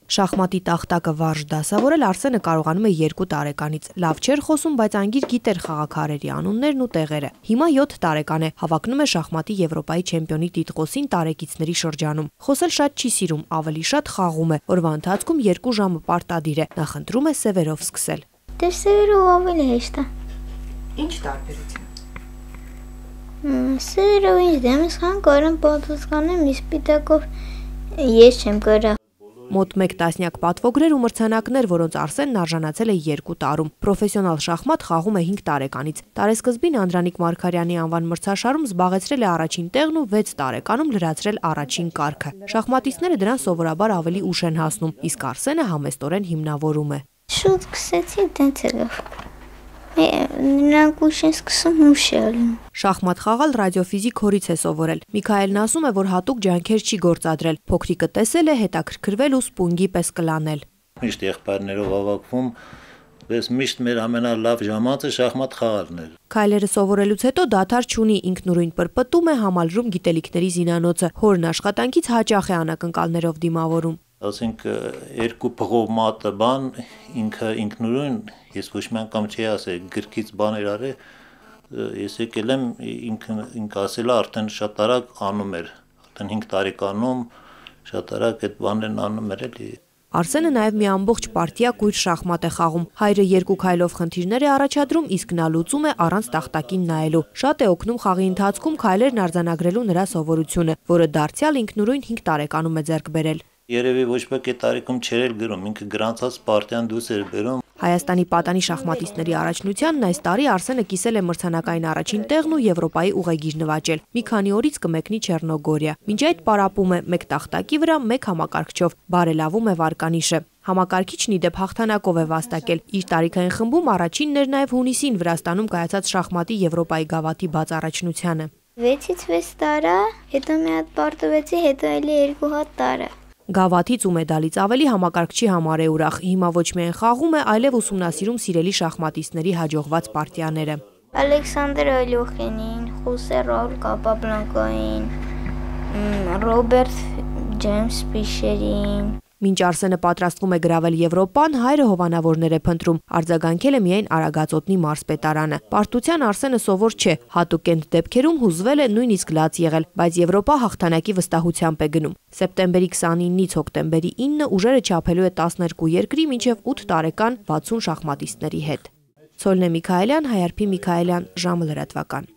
Շախմատի տախտակը վարժ դասավորել Արսենը կարողանում է 2 տարեկանից։ Լավ չէր խոսում, բայց անգիր գիտեր խաղաքարերի անուններն ու տեղերը։ Հիմա 7 տարեկան է, հավակնում է շախմատի Եվրոպայի չեմպիոնի տիտղոսին տարեկիցների շրջանում։ Խոսել շատ չի սիրում, ավելի շատ խաղում է։ Օրվա ընթացքում 2 ժամը պարտադիր է։ Նախընտրում է սևերով սկսել։ Դե սևերով ավելի հեշտ է։ Ինչ տարբերություն։ Սևերով ինչ դեմս խան կարան պատասխանեմ, իսպիտակով ես չեմ կարա։ Մոտ 1 տասնյակ պատվոգրեր ու մրցանակներ, որոնց Արսենն արժանացել է 2 տարում։ Պրոֆեսիոնալ շախմատ խաղում է 5 տարեկանից։ Տարեսկզբին Անդրանիկ Մարգարյանի անվան մրցաշարում զբաղեցրել է առաջին տեղն ու 6 տարեկանում լրացրել առաջին կարգը։ Շախմատիստները դրան սովորաբար ավելի ուշ են հասնում, իսկ Արսենը համեստորեն հիմնավորում է։ Շուտ սկսեցի, տենց եղավ։ Նրանք ուշ են սկսում, ուշ է ալում։ Շախմատ խաղալ ռադիոֆիզիկ հորից է սովորել։ Միքայելն ասում է, որ հատուկ ջանքեր չի գործադրել։ Փոքրիկը տեսել է, հետաքրքրվել ու սպունգի պես կլանել։ Միշտ եղբայրներով հավաքվում, բայց միշտ մեր ամենալավ ժամանցը շախմատ խաղալն էր։ Քայլերը սովորելուց հետո դադար չունի, ինքնուրույն պրպտում է, համալրում գիտելիքների զինանոցը։ Հորն աշխատանքից հաճախ է անակնկալներով դիմավորում։ Ասենք 2 փղով մատը բան ինքը ինքնուրույն ես ոչ մի անգամ չի ասել գրքից բաներ արել ես եկել եմ ինքը ասել է արդեն շատ արագ անում էր արդեն 5 տարեկանում շատ արագ այդ բաներն անում էր էլի Արսենը նաև մի ամբողջ պարտիա կույր շախմատ է խաղում։ Հայրը 2 քայլով խնդիրներ է առաջադրում, իսկ նա լուծում է առանց տախտակին նայելու։ Շատ է օգնում խաղի ընթացքում քայլերն արձանագրելու նրա սովորությունը, որը դարձյալ ինքնուրույն 5 տարեկանում է ձեռք բերել։ Երևի ոչ ոք այդ տարիքում չէր գրում, ինքը գրանցած պարտիան դուրս էր բերում։ Հայաստանի պատանի շախմատիստների առաջնությանն այս տարի Արսենը կիսել է մրցանակային առաջին տեղն ու Եվրոպայի ուղեգիր նվաճել։ Մի քանի օրից կմեկնի Չեռնոգորիա։ Մինչ այդ պարապում է 1 տախտակի վրա, 1 համակարգչով, բարելավում է վարկանիշը։ Համակարգիչն ի դեպ հաղթանակով է վաստակել։ Իր տարիքային խմբում առաջինն էր նաև հունիսին Վրաստանում կայացած շախմատի Եվրոպայի գավաթի բաց առաջնությանը։ 6-ից 6 տարա, հետո մի հատ պարտվեցի, հետո էլի 2 հատ տարա։ Գավաթից ու մեդալից ավելի համակարգչի համար է ուրախ։ Հիմա ոչ միայն խաղում է, այլև ուսումնասիրում սիրելի շախմատիստների հաջողված պարտիաները։ Ալեքսանդր Ալյոխինին, Խոսե Ռաուլ Կապաբլանկային, Ռոբերտ Ջեյմս Ֆիշերին։ Մինչ Արսենը պատրաստվում է գրավել Եվրոպան, հայրը հովանավորներ է փնտրում։ Արձագանքել է միայն Արագածոտնի մարզպետարանը։ Պարտության Արսենը սովոր չէ, հատուկ այդ դեպքերում հուզվել է նույնիսկ լաց եղել, բայց Եվրոպա հաղթանակի վստահությամբ է գնում։ Սեպտեմբերի 29-ից հոկտեմբերի 9-ը ուժերը չափելու է 12 երկրի մինչև 8 տարեկան 60 շախմատիստների հետ։ Ցոլնե Միքայելյան, Հայարփի Միքայելյան, ժամը լրատվական։